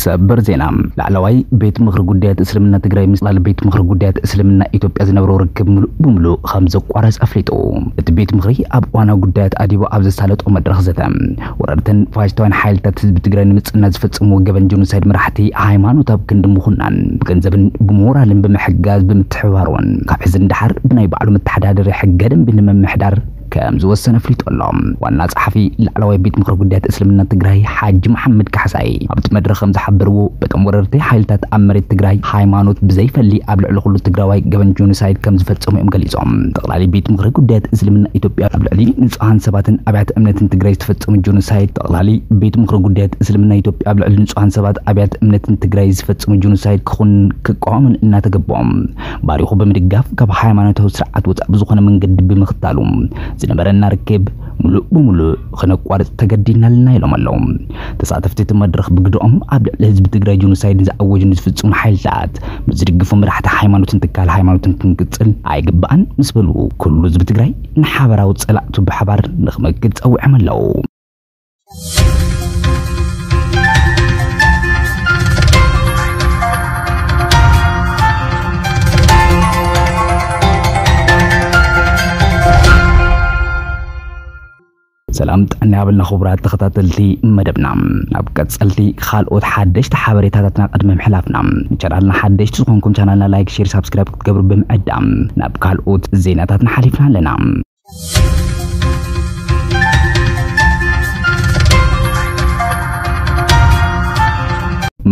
ሰበር ዜና። ላዕለዋይ ቤት ምኽሪ ጉዳያት እስልምና ትግራይ ምስ ላዕለዋይ ቤት ምኽሪ ጉዳያት እስልምና ኢትዮጵያ ዝነበረው ርክብ ምሉእ ብምሉእ ከም ዘቋረጸ ኣፍሊጡ። እቲ ቤት ምኽሪ ኣብ እዋናዊ ጉዳያት ኣዲቡ ኣብ ዘሳለጦ መድረኽ ዘተ፣ ወረርትን ፋሽስታውያን ሓይልታት ህዝቢ ትግራይ ንምጽና ዝፈጸምዎ ገበን ጀኖሳይድ መራሕቲ ሃይማኖት ኣብ ክንዲ ምኹናን፣ ብገንዘብን ብሞራልን ብምሕጋዝ ብምትሕብባር እውን ካብ ሕዚ ንደሓር ብናይ ባዕሉ መተሓዳደሪ ሕገ ደንቢ ንምምሕዳር ከም ዝወሰነ ኣፍሊጡ ኣሎ። ዋና ጸሓፊ ላዕለዋይ ቤት ምኽሪ ጉዳያት እስልምና ትግራይ ሓጂ መሓመድ ካሕሳይ ኣብቲ መድረኽ ከም ዝሓበርዎ፣ በቶም ወረርቲ ሓይልታት ኣብ መሬት ትግራይ ሃይማኖት ብዘይፈሊ ኣብ ልዕሊ ኩሉ ትግራዋይ ገበን ጆኖሳይድ ከም ዝፈጸሙ እዮም ገሊጾም። ጠቕላሊ ቤት ምኽሪ ጉዳያት እስልምና ኢትዮጵያ ኣብ ልዕሊ ንጹሃን ሰባትን ኣብያተ እምነትን ትግራይ ዝተፈጸሙ ጆኖሳይድ፣ ጠቕላሊ ቤት ምኽሪ ጉዳያት እስልምና ኢትዮጵያ ኣብ ልዕሊ ንጹሃን ሰባት ኣብያተ እምነትን ትግራይ ዝፈጸሙ ጆኖሳይድ ክኹን ክቃወምን እናተገበኦም ባሪኹ ብምድጋፍ ካብ ሃይማኖታዊ ስርዓት ወጻእ ብዝኾነ መንገዲ ብምኽታሉ ዝነበረና ርክብ ሙሉእ ብሙሉእ ክነቋርጽ ተገዲድና ኣለና ኢሎም ኣለዉ። ተሳተፍቲ እቲ መድረኽ ብግደኦም ኣብ ልዕሊ ህዝቢ ትግራይ ጆኖሳይድ ዝኣወጁ ንዝፍጽሙ ሓይልታት ምስ ዝድግፉ መራሕቲ ሃይማኖትን ትካል ሃይማኖትን ክንቅጽል ኣይግባእን ምስ በሉ ኩሉ ህዝቢ ትግራይ ንሓበራዊ ጸላእቱ ብሓባር ንኽመክት ጸዊዖም ኣለዉ። ሰላም ጥዕና ያብልና ክቡራት ተኸታተልቲ መደብና። ናብ ቀጸልቲ ካልኦት ሓደሽቲ ሓበሬታታትና ቅድሚ ምሕላፍና፣ ንቻናልና ሓደሽቲ ዝኾንኩም ቻናልና ላይክ፣ ሼር፣ ሳብስክራይብ ክትገብሩ ብምዕዳም ናብ ካልኦት ዜናታትና ሓሊፍና ኣለና።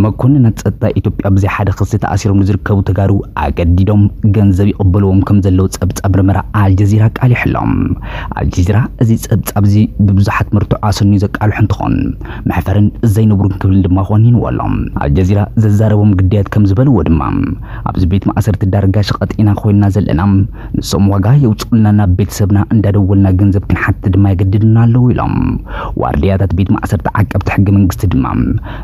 መኮንናት ጸጥታ ኢትዮጵያ ብዘይ ሓደ ክሲ ተኣሲሮም ንዝርከቡ ተጋሩ ኣገዲዶም ገንዘብ ይቕበልዎም ከም ዘለዉ ጸብጻብ ምርመራ ኣልጀዚራ ኣቃሊሑ ኣሎ። ኣልጀዚራ እዚ ጸብጻብ እዚ ብብዙሓት መርትዖ ኣሰንዩ ዘቃልሖ እንትኾን፣ መሕፈርን ዘይንቡርን ክብል ድማ ኮኒንዎ ኣሎ። ኣልጀዚራ ዘዛረቦም ግዳያት ከም ዝበልዎ ድማ፣ ኣብዚ ቤት ማእሰርቲ ዳርጋ ሸቐጥ ኢና ኮይንና ዘለና፣ ንሶም ዋጋ የውፅኡልና፣ ናብ ቤተሰብና እንዳደወልና ገንዘብ ክንሓትት ድማ የገድዱና ኣለዉ ኢሎም። ዋርድያታት ቤት ማእሰርቲ ዓቀብቲ ሕገ መንግስቲ ድማ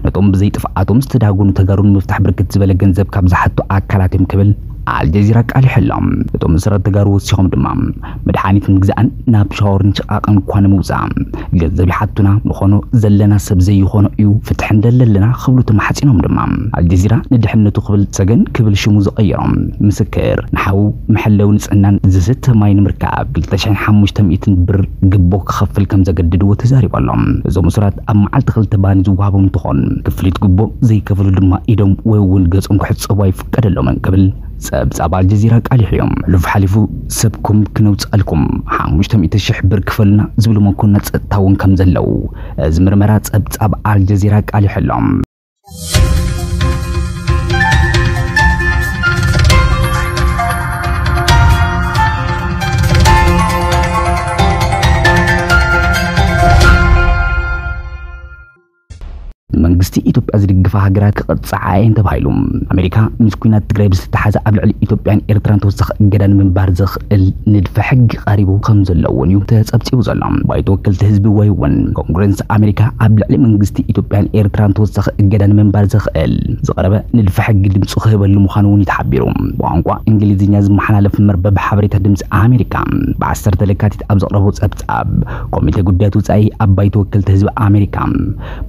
ነቶም ብዘይ ጥፍኣቶም ዝተዳጎኑ ተጋሩ ንምፍታሕ ብርክት ዝበለ ገንዘብ ካብ ዝሓቱ ኣካላት እዮም ክብል ኣልጀዚራ ኣቃሊሑ ኣሎ። እቶም ዝሰረት ተጋሩ ወሲኾም ድማ መድሓኒት ምግዛእን ናብ ሻወርን ሽቓቕን እኳ ንምውፃእ ገንዘብ ይሓቱና፣ ምኾኖ ዘለና ሰብ ዘይኾኖ እዩ፣ ፍትሒ እንደለለና ክብሉ ተማሕፂኖም ድማ ኣልጀዚራ ንድሕነቱ ክብል ሰገን ክብል ሽሙ ዝቐየሮም ምስክር ንሓዉ መሐለዊ ንፅህናን ዝስተ ማይ ንምርካብ ክልተ ሽሕን ሓሙሽተ ሚእትን ብር ግቦ ክኸፍል ከም ዘገድድዎ ተዛሪቡ ኣሎ። እዞም እሱራት ኣብ መዓልቲ ክልተ ባኒ ዝወሃቦም እንትኾን ክፍሊት ግቦ ዘይከፍሉ ድማ ኢዶም ወይ እውን ገጾም ክሕጸቡ ኣይፍቀደሎምን ክብል ጸብጻብ ኣልጀዚራ ኣቃሊሑ እዩ። ሕሉፍ ሓሊፉ ሰብኩም ክነውጽኣልኩም ሓሙሽተ ሚእቲ ሽሕ ብር ክፈሉና ዝብሉ መኮንናት ጸጥታ እውን ከም ዘለዉ እዚ ምርመራ ጸብጻብ ኣልጀዚራ ኣቃሊሑ ኣሎ። መንግስቲ ኢትዮጵያ ዝድግፋ ሃገራት ክቕጽዓ እየን ተባሂሉ። ኣሜሪካ ምስ ኲናት ትግራይ ብዝተተሓዘ ኣብ ልዕሊ ኢትዮጵያን ኤርትራን ተወሳኺ እገዳ ንምንባር ዘኽእል ንድፈ ሕጊ ቀሪቡ ከም ዘሎ እውን እዩ ተጸብጺቡ ዘሎ። ባይቶ ወከልቲ ህዝቢ ወይ እውን ኮንግረስ ኣሜሪካ ኣብ ልዕሊ መንግስቲ ኢትዮጵያን ኤርትራን ተወሳኺ እገዳ ንምንባር ዘኽእል ዝቐረበ ንድፈ ሕጊ ድምፁ ክህበሉ ምዃኑ እውን እዩ ተሓቢሩ። ብቋንቋ እንግሊዝኛ ዝመሓላለፍ መርበብ ሓበሬታ ድምፂ ኣሜሪካ ብዓሰርተ ለካቲት ኣብ ዘቕረቦ ጸብጻብ፣ ኮሚቴ ጉዳያት ወጻኢ ኣብ ባይቶ ወከልቲ ህዝቢ ኣሜሪካ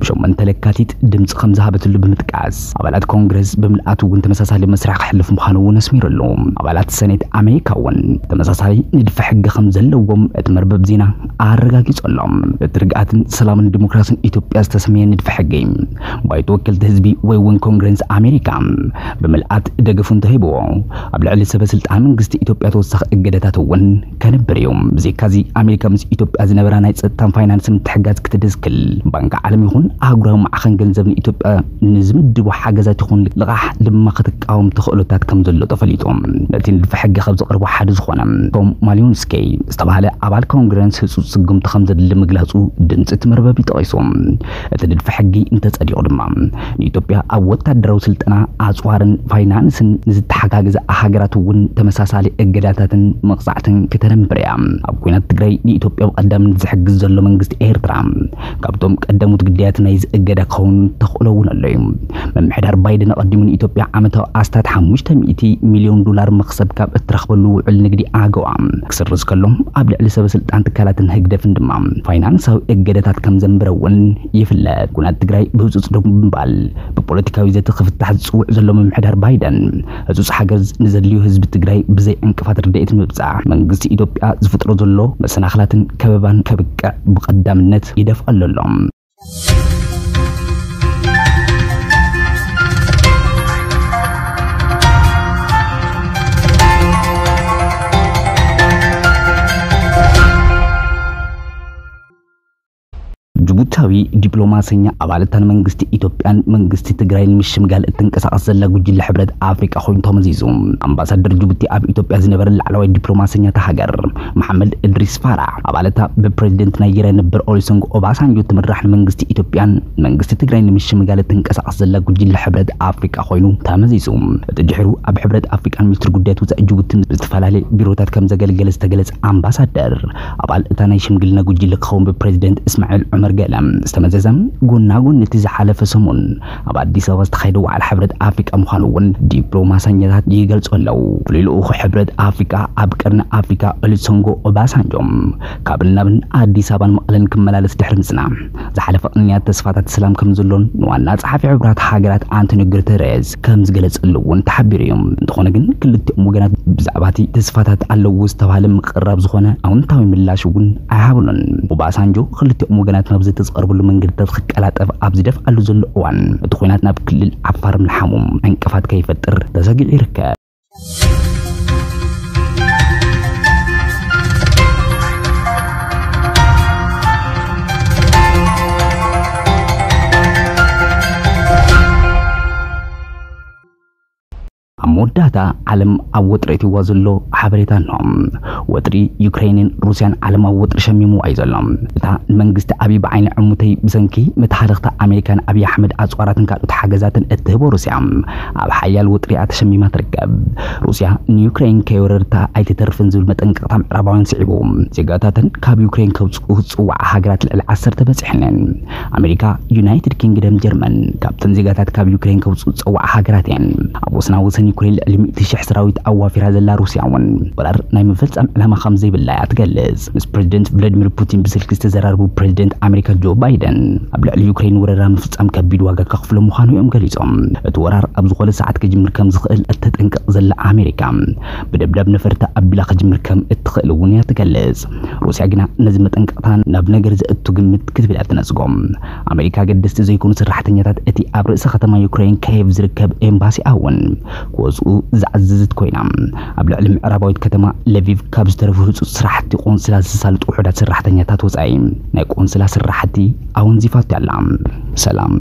ብሸሞንተ ለካቲት ድምፂ ከም ዝሃበትሉ ብምጥቃስ፣ ኣባላት ኮንግረስ ብምልኣት እውን ተመሳሳሊ መስርሕ ክሕልፍ ምዃኑ እውን ኣስሚሩሉ። ኣባላት ሰኔት ኣሜሪካ እውን ተመሳሳሊ ንድፈ ሕጊ ከም ዘለዎም እቲ መርበብ ዜና ኣረጋጊጹ ኣሎ። እቲ ርግኣትን ሰላምን ዲሞክራስን ኢትዮጵያ ዝተሰመየ ንድፈ ሕጊ ባይቶ ወከልቲ ህዝቢ ወይ እውን ኮንግረስ ኣሜሪካ ብምልኣት ደገፉ እንተሂብዎ፣ ኣብ ልዕሊ ሰበ ስልጣን መንግስቲ ኢትዮጵያ ተወሳኺ እገዳታት እውን ከንብር እዩ። ብዘይካዚ ኣሜሪካ ምስ ኢትዮጵያ ዝነበራ ናይ ጸጥታን ፋይናንስ ምትሕጋዝ ክትድስክል፣ ባንኪ ዓለም ይኹን ኣህጉራዊ ማዕኸን ገንዘብ ንኢትዮጵያ ንዝምድቦ ሓገዛት ይኹን ልቓሕ ድማ ክትቃወም ተኽእሎታት ከም ዘሎ ተፈሊጡ። ነቲ ንድፈ ሕጊ ካብ ዘቕርቡ ሓደ ዝኾነ ቶም ማሊዮንስኪ ዝተባህለ ኣባል ኮንግረስ ህጹጽ ስጉምቲ ከም ዘድሊ ምግላጹ ድምጺ እቲ መርበብ ይጠቒሱ። እቲ ንድፈ ሕጊ እንተጸዲቑ ድማ ንኢትዮጵያ ኣብ ወታደራዊ ስልጠና፣ ኣጽዋርን ፋይናንስን ንዝተሓጋገዛ ሃገራት እውን ተመሳሳሊ እገዳታትን መቕጻዕትን ክተነብር እያ። ኣብ ኲናት ትግራይ ንኢትዮጵያ ብቐዳምነት ዝሕግዝ ዘሎ መንግስቲ ኤርትራ ካብቶም ቀዳሞት ግዳያት ናይዚ እገዳ ክኸውን ተኽእሎ እውን ኣሎ እዩ። ምምሕዳር ባይደን ኣቐዲሙ ንኢትዮጵያ ዓመታዊ ኣስታት ሓሙሽተ ሚእቲ ሚልዮን ዶላር መኽሰብ ካብ እትረኽበሉ ውዕል ንግዲ ኣገዋ ክስርዝ ከሎ፣ ኣብ ልዕሊ ሰበ ስልጣን ትካላትን ህግደፍን ድማ ፋይናንሳዊ እገደታት ከም ዘንበረ እውን ይፍለጥ። ኩናት ትግራይ ብህጹጽ ደው ብምባል ብፖለቲካዊ ዘተ ክፍታሕ ዝጽውዕ ዘሎ ምምሕዳር ባይደን፣ ህጹጽ ሓገዝ ንዘድልዩ ህዝቢ ትግራይ ብዘይ ዕንቅፋት ርድኢት ምብጻሕ መንግስቲ ኢትዮጵያ ዝፍጥሮ ዘሎ መሰናኽላትን ከበባን ከብቅዕ ብቐዳምነት ይደፍኣሉ ኣሎ። ጅቡታዊ ዲፕሎማሰኛ ኣባልታን መንግስቲ ኢትዮጵያን መንግስቲ ትግራይን ምሽምጋል እትንቀሳቐስ ዘላ ጉጅለ ሕብረት ኣፍሪቃ ኮይኑ ተመዚዙ። ኣምባሳደር ጅቡቲ ኣብ ኢትዮጵያ ዝነበረ ላዕለዋይ ዲፕሎማሰኛ እታ ሃገር መሓመድ እድሪስ ፋራህ፣ ኣባልታ ብፕሬዚደንት ናይጄርያ ነበር ኦሉሰንጎ ኦባሳንጆ ትምራሕ ንመንግስቲ ኢትዮጵያን መንግስቲ ትግራይን ንምሽምጋል እትንቀሳቐስ ዘላ ጉጅለ ሕብረት ኣፍሪቃ ኮይኑ ተመዚዙ። እቲ ድሕሩ ኣብ ሕብረት ኣፍሪቃን ሚኒስትሪ ጉዳያት ወጻኢ ጅቡትን ዝተፈላለየ ቢሮታት ከም ዘገልገለ ዝተገለጸ ኣምባሳደር፣ ኣባል እታ ናይ ሽምግልና ጉጅለ ክኸውን ብፕሬዚደንት እስማዒል ዑመር ገለ ዝተመዘዘ፣ ጎና ጎኒ እቲ ዝሓለፈ ሰሙን ኣብ ኣዲስ ኣበባ ዝተኻየደ ዋዕላ ሕብረት ኣፍሪቃ ምዃኑ እውን ዲፕሎማሰኛታት ይገልጹ ኣለዉ። ፍሉይ ልኡኹ ሕብረት ኣፍሪቃ ኣብ ቀርኒ ኣፍሪቃ ኦሉሰንጎ ኦባሳንጆ ካብን ናብን ኣዲስ ኣበባን መቐለን ክመላለስ ድሕሪ ምጽናሕ፣ ዝሓለፈ ቅንያት ተስፋታት ሰላም ከም ዘሎን ንዋና ጸሓፊ ሕቡራት ሃገራት ኣንቶኒዮ ጉተረዝ ከም ዝገለጸሉ እውን ተሓቢሩ እዩ። እንተኾነ ግን ክልቲኦም ወገናት ብዛዕባ እቲ ተስፋታት ኣለዎ ዝተባህለ ምቅርራብ ዝኾነ ኣውንታዊ ምላሽ እውን ኣይሃብሉን። ኦባሳንጆ ክልቲኦም ወገናት ናብ ዘተ ዝቐርብሉ መንገድታት ክቀላጠፍ ኣብ ዝደፍኣሉ ዘሎ እዋን፣ እቲ ኲናት ናብ ክልል ዓፋር ምልሓሙ ዕንቅፋት ከይፈጥር ተሰጊዑ ይርከብ። ኣብ መወዳእታ ዓለም ኣብ ወጥሪ ኣእትይዋ ዘሎ ሓበሬታ እንሆ። ወጥሪ ዩክሬንን ሩስያን ዓለም ኣብ ወጥሪ ሸሚምዋ እዩ ዘሎ። እታ ንመንግስቲ ኣብይ ብዓይኒ ዕሙተይ ብሰንኪ መተሃለኽታ ኣሜሪካን ኣብይ ኣሕመድ ኣጽዋራትን ካልኦት ሓገዛትን እትህቦ ሩስያ ኣብ ሓያል ወጥሪ እያ ተሸሚማ ትርከብ። ሩስያ ንዩክሬን ከይወረርታ ኣይትተርፍን ዝብል መጠንቀቕታ ምዕራባውያን ስዒቡ፣ ዜጋታተን ካብ ዩክሬን ከውጽኡ ዝጽውዓ ሃገራት ልዕሊ ዓሰርተ በጺሐን። ኣሜሪካ፣ ዩናይትድ ኪንግደም፣ ጀርመን ካብተን ዜጋታት ካብ ዩክሬን ከውጽኡ ዝጸውዓ ሃገራት እየን። ኣብ ወሰና ወሰን ዩክሬን ልዕሊ ሚእቲ ሽሕ ሰራዊት ኣዋፊራ ዘላ ሩስያ እውን ወራር ናይ ምፍጻም ዕላማ ከም ዘይብላ እያ ትገልጽ። ምስ ፕሬዚደንት ቭላዲሚር ፑቲን ብስልኪ ዝተዘራረቡ ፕሬዚደንት ኣሜሪካ ጆ ባይደን፣ ኣብ ልዕሊ ዩክሬን ወረራ ምፍጻም ከቢድ ዋጋ ከኽፍሎ ምዃኑ እዮም ገሊጾም። እቲ ወራር ኣብ ዝኾነ ሰዓት ክጅምር ከም ዝኽእል እተጠንቅቕ ዘላ ኣሜሪካ፣ ብደብዳብ ነፈርቲ ኣቢላ ክጅምር ከም እትኽእል እውን እያ ትገልጽ። ሩስያ ግና ነዚ መጠንቀቕታ ናብ ነገር ዘእቱ ግምት ክትብል እያ ትነጽጎ። ኣሜሪካ ኣገደስቲ ዘይኮኑ ሰራሕተኛታት እቲ ኣብ ርእሰ ከተማ ዩክሬን ካየቭ ዝርከብ ኤምባሲኣ እውን ክወጽኡ ዝኣዘዘት ኮይና፣ ኣብ ልዕሊ ምዕራባዊት ከተማ ለቪቭ ካብ ዝተረፉ ህጹጽ ስራሕቲ ቆንስላ ዝሳልጡ ውሑዳት ሰራሕተኛታት ወጻኢ ናይ ቆንስላ ስራሕቲ ኣወንዚፋቶ ኣላ። ሰላም።